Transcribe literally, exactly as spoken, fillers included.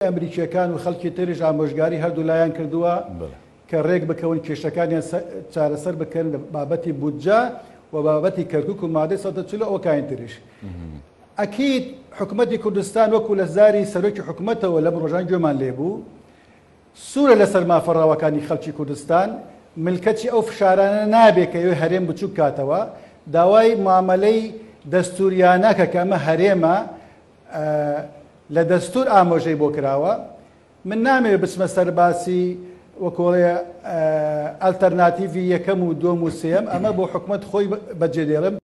ئەمریکیەکان و خەڵکی تریش ئامۆژگاری هەردوو لایان کردووە کە ڕێک بکەون کێشەکانیان چارەسەر بکەن لە بابەتی بودجە و بابەتی کەرکوک و مادەی سەد و چل و ئەوەکانی تریش. ئەکید حکومەتی کوردستان وەکو لە زاری سەرۆکی حکومەتەوە لەم ڕۆژان گوێمان لێبوو سوورە لەسەر مافە ڕەواکانی خەڵکی کوردستان، ملکەچی ئەو فشارانە نابێت کە ئەوێ هەرێم بچوک کاتەوە، داوای معاملەی دەستوریانەکە کە ئەمە هەرێمە لە دەستور ئامۆژەی بۆ کراوە. من نامەوێت بچمە سەر باسی وەکۆڵێ ئەلتەرناتیڤی یەکەم و دووەم و سێیەم، ئەمە بۆ حکومەت خۆی بەجێدێڵم.